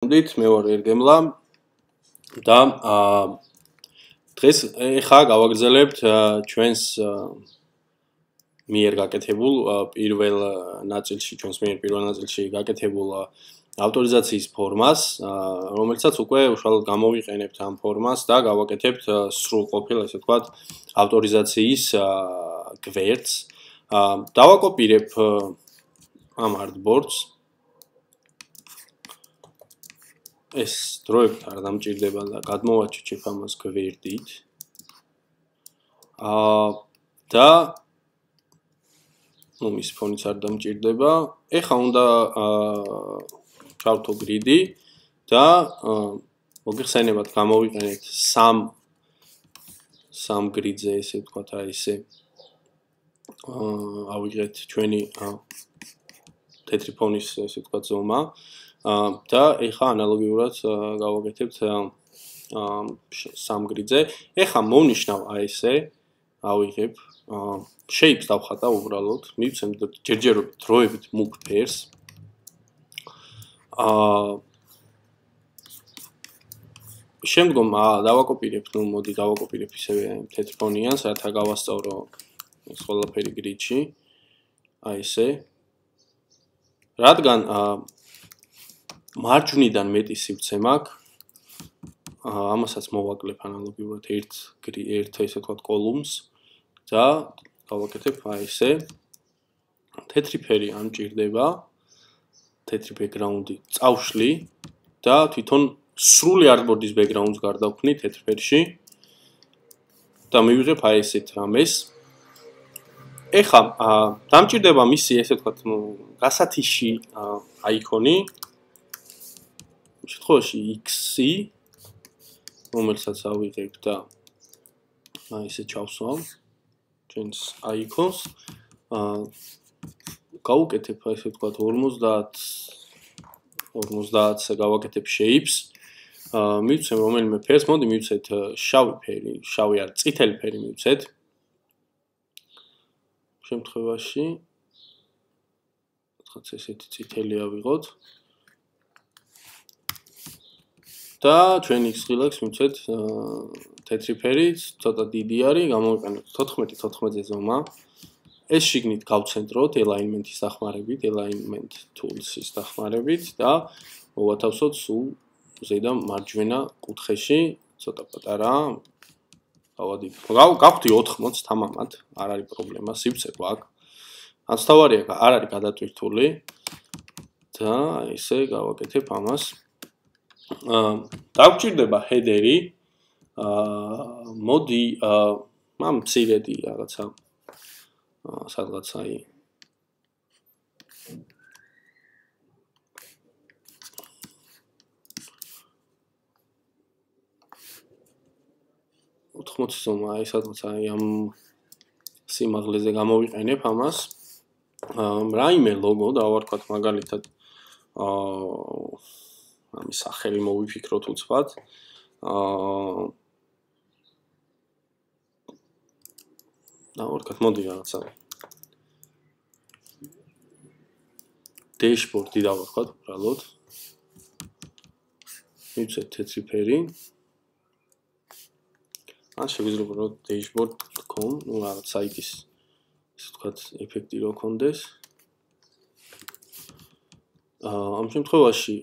მოდით, მე ვარ ერგემლა და დღეს ეხა გავაგრძელებთ ჩვენს მიერ გაკეთებულ პირველ ნაწილში, ჩვენს მიერ პირველ ნაწილში გაკეთებულ ავტორიზაციის ფორმას, რომელსაც უკვე უშუალოდ გამოვიყენებთ ამ ფორმას და გავაკეთებთ სრულყოფილ, ესე ვთქვათ, ავტორიზაციის გვერდს. დავაკოპირებ ამ artboards. ეს დროებით არ დამჭირდება და გადმოვაჩიჩებ ამას გვერდით. და მის ფონიც არ დამჭირდება. ეხა უნდა ჩავთო გრიდი და მოგიხსენებათ გამოვიყენეთ სამ გრიდზე, ესე ვთქვათ, აი ესე. ავიღეთ ჩვენი თეთრი ფონის, ესე ვთქვათ, ზომა. და ეხა ანალოგიურად გავაკეთებთ სამ გრიდზე. ეხა მოვნიშნავ აი ესე, ავიღებ shapes დავხატა უბრალოდ, მივცემ ჯერჯერობით დროებით მუქ ფერს. შემდგომ დავაკოპირებ, მოდი დავაკოპირებ ისევე თეთრ ფონიანს, რათა გავასწავრო ეს ყველაფერი გრიდში. აი ესე. რადგან მარჯვნიდან მეტი სივრცე მაქვს, ამასაც მოვაკლებ ანალოგიურად ერთ ესე ვთქვათ კოლუმს და გავაკეთებ აი ესე. თეთრი ფერი არ მჭირდება, თეთრი ბექგრაუნდი წავშლი და თვითონ სრული artboard-ის ბექგრაუნდს გარდავქმნი თეთრ ფერში და მივიღებ აი ესეთ რამეს. ეხა დამჭირდება მისი, ესე ვთქვათ, გასათიში აიკონი. შემთხვევაში X-ი, რომელსაც ავიღებ და აი ესე ჩავსვამ ჩვენს აიკონს. გავუკეთებ, ესე ვთქვათ, 50-ზე გავაკეთებ shapes. მივცემ რომელიმე ფერს, მოდი მივცეთ შავი ფერი, შავი არ, წითელი ფერი მივცეთ. შემთხვევაში რაღაც ესეთი წითელი ავიღოთ. და ჩვენი ცხილაკს მივცეთ თეთრი ფერი, ცოტა დიდი არის, გამოვიყენოთ 14-14-ზე ზომა. ეს შიგნით გავცენტროთ alignment-ის დახმარებით, alignment tools-ის დახმარებით და მოვათავსოთ სულ ზედა მარჯვენა კუთხეში, ცოტა პატარა. გავხდი 80 თამამად, არ არის პრობლემა, სივრცე გვაქვს. ანცთავარია, არ არის გადატვირთული და ესე გავაკეთებ ამას. დაგჭირდება header-ი. მოდი ამ მცირედი რაღაცა სადღაც აი 80 ზომა, აი სადღაც აი ამ სიმაღლეზე გამოვიყენებ ამას. რაიმე ლოგო დავარქვათ მაგალითად ამის სახელი მოვიფიქროთ უცბად. დავარქვათ, მოდი რაღაცა dashboard-ი დავარქვათ უბრალოდ. მივცეთ თეთრი ფერი. ან შეგვიძლია უბრალოდ dashboard.com, ну რაღაც საიტის, ესე ვთქვათ, ეფექტი რო კონდეს. ამ შემთხვევაში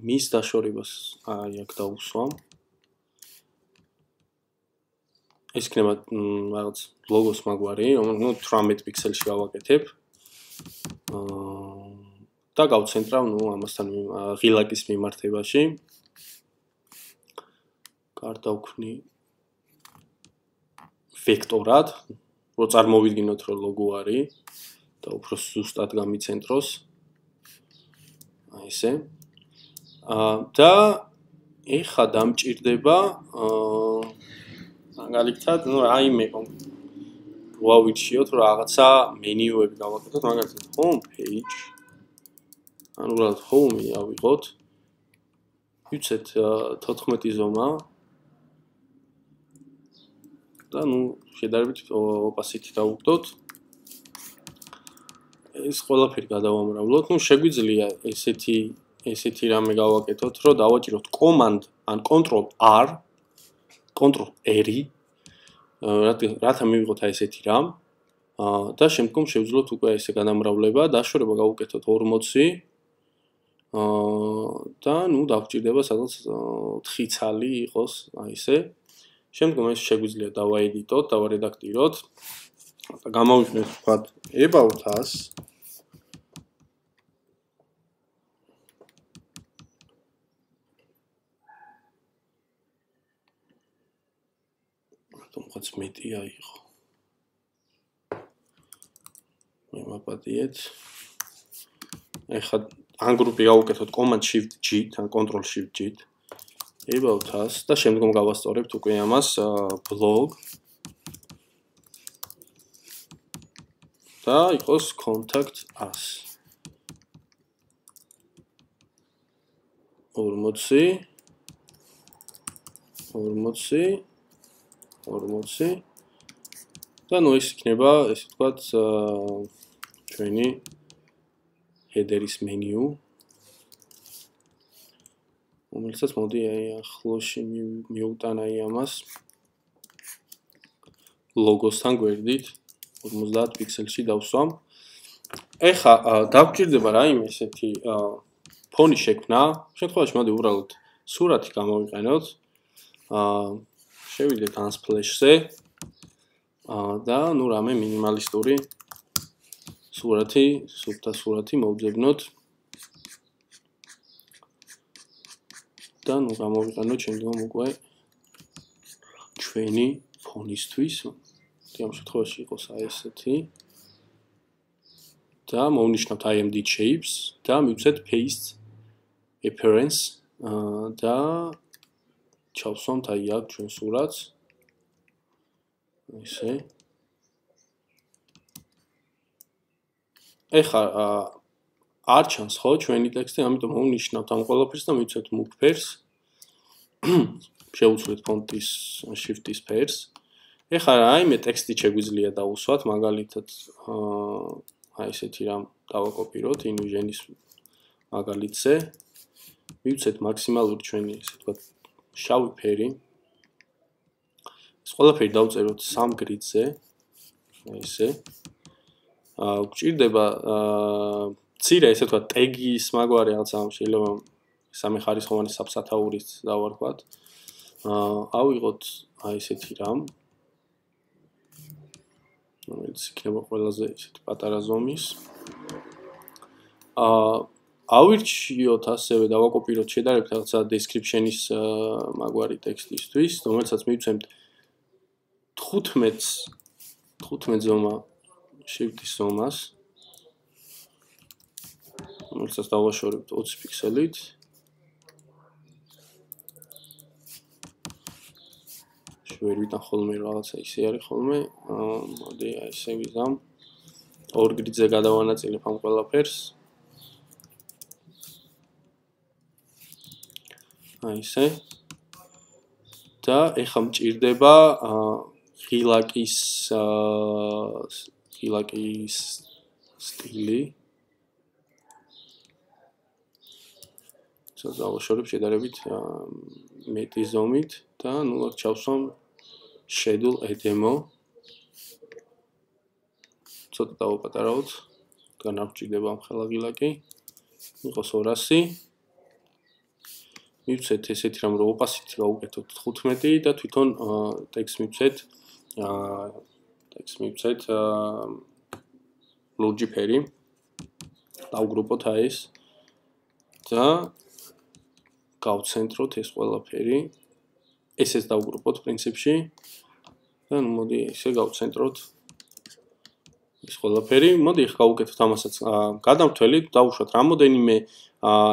მის დაშორებას აი აქ დავუსვამ. ეს იქნება რაღაც ლოგოს მაგვარი, რომელიც 18 პიქსელში გავაკეთებ. და გავცენტრავ, ამასთან ღილაკის მიმართებაში. გარდავქმნი ვექტორად, რო წარმოვიდგინოთ, რომ ლოგო არის და უფრო ზუსტად გამიცენტროს. აი ესე. და ეხა დამჭირდება მაგალითად, რაიმე ვავირჩიოთ, რომ რაღაცა მენიუები გავაკეთოთ, მაგალითად home page. ანუ უბრალოდ home-ი ავიღოთ. ვიცეთ 14 ზომა. და შედარებით opacity დავუხდოთ. ეს ყველაფერი გადავამრავლოთ. შეგვიძლია ესეთი ესეთი რამე გავაკეთოთ, რომ დავაჭიროთ command ან control R, control R, რათა მივიღოთ აი ესეთი რამ და შემდგომ შევძლოთ უკვე ესე გადამრავლება, დაშორება გავუკეთოთ 40 და ნუ დაგვჭირდება სადღაც 4 ცალი იყოს აი ესე. შემდგომ ეს შეგვიძლია დავაედიტოთ, დავარედაქტიროთ და გამოვიხსნით ვთქვათ about us. თუმცა მეტია იყო. მე მაპატიეთ. ეხლა ან გრუპი გავუკეთოთ command shift G ან control shift G. about us და შემდგომ გავასწორებთ უკვე ამას blog და იყოს contact us 40 და ნუ ეს იქნება ესე ვთქვათ ჩვენი header-ის menu რომელსაც მოდი აი ახლოში მივუტან აი ამას ლოგოსთან გვერდით 50 პიქსელში დავსვამ. ეხლა დაგვჭირდება რაიმე ესეთი ფონი შექმნა. შემთხვევაში მოდი უბრალოდ სურათი გამოვიყენოთ. შევიდეთ Unsplash-ზე და ნუ რამე მინიმალისტური სურათი, სუფთა სურათი მოვძებნოთ. და ნუ გამოვიყენოთ შემდგომ უკვე ჩვენი ფონისთვის. ამ შემთხვევაში იყოს აი ესეთი. და მოვნიშნოთ IMD shapes და მივცეთ paste appearance და ჩავსვამთ აი აქ ჩვენ სურათს. ესე. ეხლა არ ჩანს ხო ჩვენი ტექსტი, ამიტომ მოვნიშნავთ ამ ყველაფერს და მივცეთ move pairs. შევუცვლით ფონტის shift-ის pairs. ეხლა რაიმე ტექსტი შეგვიძლია დავუსვათ, მაგალითად აი ესეთი რამ დავაკოპიროთ InVision-ის მაგალითზე. მივცეთ მაქსიმალური ჩვენი ესე ვთქვათ შავი ფერი. ეს ყველაფერი დავწეროთ 3 grid-ზე. აი ესე. გვჭირდება მცირე ესე ვთქვათ ტეგის მაგვარი რაღაცა შეიძლება სამეხარისხოვანი საბსათაურის დავარქვათ. ავიღოთ აი ესეთი რამ. რომელიც იქნება ყველაზე ესეთი პატარა ზომის. ავირჩიოთ ასევე დავაკოპიროთ შედარებით რაღაცა description-ის მაგვარი ტექსტისთვის, რომელსაც მივცემთ 15 ზომა shift-ის ზომას. რომელსაც დავაშორებთ 20 პიქსელით. ვერ ვიტან ხოლმე რაღაცა ისე არის ხოლმე. მოდი აი ესე ვიზამ. 2 grid-ზე გადავანაწილებ ამ ყველაფერს. აი ესე. და ეხლა მჭირდება ღილაკის სტილი. დავაშორებ შედარებით მეტი ზომით და ნუ აქ ჩავსვამ schedule a demo. ცოტა დავაპატარავთ. განავრჩიდება ამ ხელა ღილაკი. იყოს 200. მივცეთ ესეთი რამ რომ opacity გავუკეთოთ 15 და თვითონ text მივცეთ logi ფერი. დავგრუპოთ აი ეს და გავცენტროთ ეს ყველაფერი. ესეც დავგრუპოთ პრინციპში. და ნუ მოდი ესე გავცენტროთ ეს ყველაფერი. მოდი ახლა გავუკეთოთ ამასაც გადამრთველი, დავუშვათ რამოდენიმე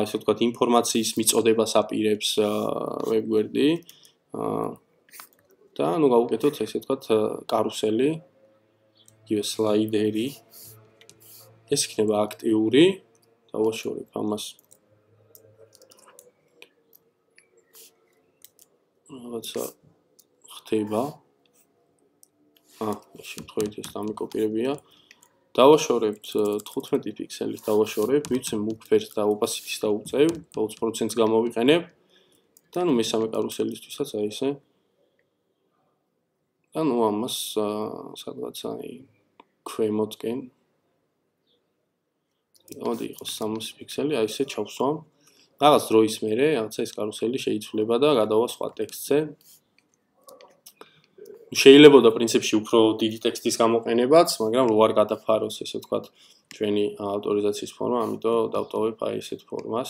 ესე ვთქვათ ინფორმაციის მიწოდებას აპირებს ვებგვერდი. და ნუ გავუკეთოთ ესე ვთქვათ კარუსელი, იგივე სლაიდერი. ეს იქნება აქტიური. დავაშორებ ამას რაღაცა ხდება. ეს შემთხვევით ეს დამიკოპირებია დავაშორებთ 15 პიქსელის დავაშორებ, ვიცი მუქფერს და opacity-ს დავუწევ, 20%-ს გამოვიყენებ და ნუ მესამე კარუსელისთვისაც აი ესე. და ნუ ამას სადღაც აი ქვემოთკენ მოდი იყოს 300 პიქსელი, აი ესე ჩავსვამ. რაღაც დროის მერე, რაღაცა ეს კარუსელი შეიცვლება და გადავა სხვა ტექსტზე. შეიძლება და პრინციპში უფრო დიდი ტექსტის გამოყენებაც, მაგრამ რო არ გადაფაროს, ესე ვთქვათ, ჩვენი ავტორიზაციის ფორმა, ამიტომ დავტოვებ აი ესეთ ფორმას.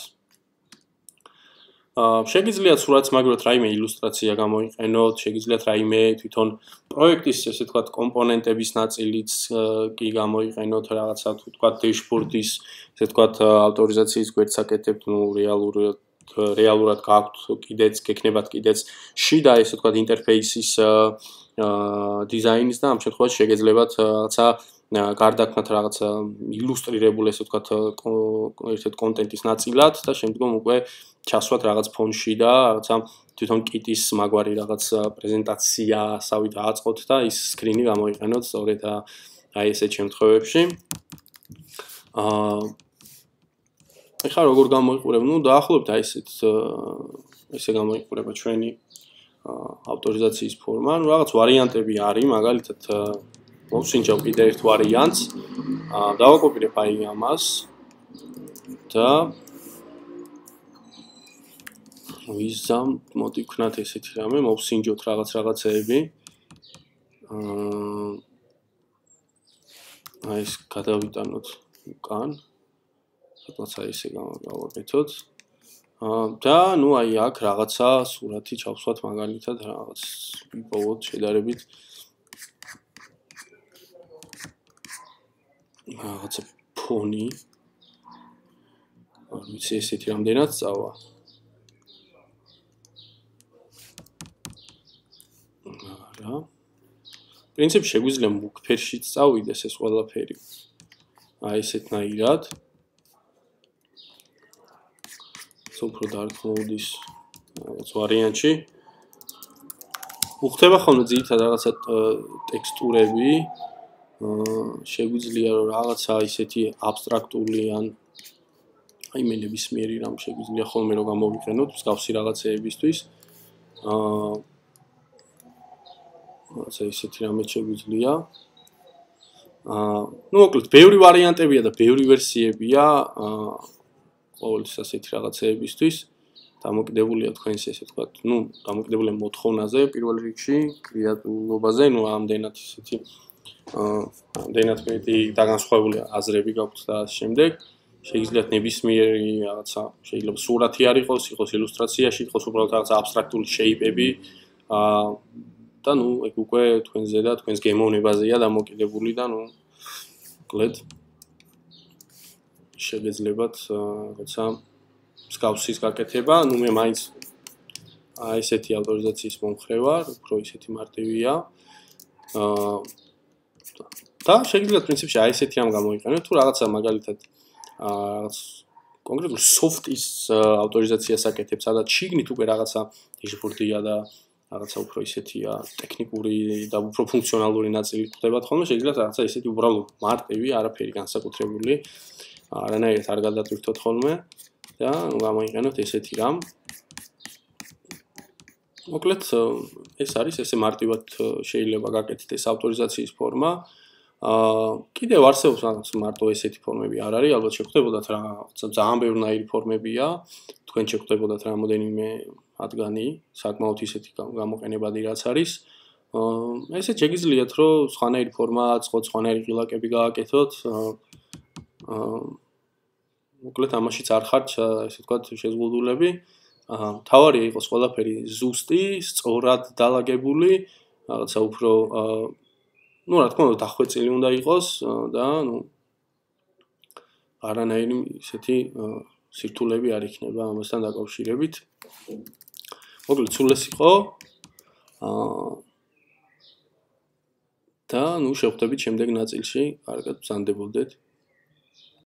შეგიძლიათ სურათს მაგრად რაიმე ილუსტრაცია გამოიყენოთ, შეგიძლიათ რაიმე თვითონ პროექტის, ესე ვთქვათ, კომპონენტების ნაწილიც კი გამოიყენოთ, რაღაცა ვთქვათ, დეშბორდის, ესე ვთქვათ, ავტორიზაციის გვერდს აკეთებთ, ნუ რეალურად გაქვთ კიდეც, გექნებათ კიდეც შიდა, ესე ვთქვათ, ინტერფეისის დიზაინის და ამ შემთხვევაში შეგეძლებათ რაღაცა გარდაქმნათ რაღაცა ილუსტრირებული, ესე ვთქვათ, ერთ-ერთ კონტენტის ნაწილად და შემდგომ უკვე ჩასვათ რაღაც ფონში და რაღაცა თვითონ კიტის მაგვარი რაღაც პრეზენტაცია, ასავით აწყოთ და ის სკრინი გამოიყენოთ სწორედ აი ესეთ შემთხვევებში. ეხლა როგორ გამოიყურებ? ნუ დაახლოებით აი ესე გამოიყურება ჩვენი ავტორიზაციის ფორმა. ნუ რაღაც ვარიანტები არის, მაგალითად მოვსინჯავ კიდე ერთ ვარიანტს. დავაკოპირებ აი ამას და ვიზამ, მოდი ვქნათ ესეთი რამე, მოვსინჯოთ რაღაცეები. აი ეს გადავიტანოთ უკან. სადღაც აი ესე გავაკეთოთ. და ნუ აი აქ რაღაცა სურათი ჩავსვათ მაგალითად რაღაც ვიპოვოთ შედარებით რაღაცა ფონი. არ ვიცი ესეთი რამდენად წავა. არა. პრინციპში შეგვიძლია მუქფერშიც წავიდეს ეს ყველაფერი. აი ესეთნაირად. უფრო dark mode-ის რაღაც ვარიანტში. უხდება ხოლმე ძირითადად რაღაცა ტექსტურები. შეგვიძლია რომ რაღაცა ისეთი აბსტრაქტული ან აი მე ნებისმიერი რამ შეგვიძლია ხოლმე რომ გამოვიყენოთ მსგავსი რაღაცეებისთვის. რაღაცა ისეთი რამე შეგვიძლია. ნუ მოკლედ ბევრი ვარიანტებია და ბევრი ვერსიებია ყოველთვის ასეთი რაღაცეებისთვის. დამოკიდებულია თქვენს ესე ვთქვათ, ნუ დამოკიდებულია მოთხოვნაზე პირველ რიგში, კრეატიულობაზე, ნუ ამდენად ისეთი ამდენად მეტი დაგანსხვავებული აზრები გაქვთ და ამ შემდეგ შეგიძლიათ ნებისმიერი რაღაცა, შეიძლება სურათი არ იყოს, იყოს ილუსტრაციაში, იყოს უბრალოდ რაღაცა აბსტრაქტული შეიპები და ნუ ეგ უკვე თქვენზე და თქვენს გემოვნებაზეა დამოკიდებული და ნუ მოკლედ შეგეძლებათ რაღაცა მსგავსის გაკეთება, ნუ მე მაინც აი ესეთი ავტორიზაციის მომხრე ვარ, უფრო ისეთი მარტივია. და შეგიძლიათ პრინციპში აი ესეთი რამ გამოიყენოთ, თუ რაღაცა მაგალითად რაღაც კონკრეტულ soft-ის ავტორიზაციას აკეთებ, სადაც შიგნით უკვე რაღაცა დეშბორდია და რაღაცა უფრო ისეთია ტექნიკური და უფრო ფუნქციონალური ნაწილი ხდებათ ხოლმე, შეგიძლიათ რაღაცა ისეთი უბრალოდ მარტივი, არაფერი განსაკუთრებული არანაირად არ გადატვირთოთ ხოლმე და გამოიყენოთ ესეთი რამ. მოკლედ ეს არის ესე მარტივად შეიძლება გაკეთდეს ეს ავტორიზაციის ფორმა. კიდევ არსებობს რაღაც მარტო ესეთი ფორმები არ არის, ალბათ შეხვდებოდათ რაღაცა ძალიან ბევრნაირი ფორმებია. თქვენ შეხვდებოდათ რამოდენიმე მათგანი, საკმაოდ ისეთი გამოყენებადი რაც არის. ესე შეგიძლიათ რომ სხვანაირი ფორმა აწყოთ, სხვანაირი ღილაკები გააკეთოთ. მოკლედ ამაშიც არ ხართ ესე ვთქვათ შეზღუდულები. თავარია იყოს ყველაფერი ზუსტი, სწორად დალაგებული, რაღაცა უფრო ნუ რა თქმა უნდა დახვეწილი უნდა იყოს და ნუ არანაირი ისეთი სირთულეები არ იქნება ამასთან დაკავშირებით. მოკლედ სულ ეს იყო და ნუ შევხვდებით შემდეგ ნაწილში, კარგად, ბრძანდებოდეთ.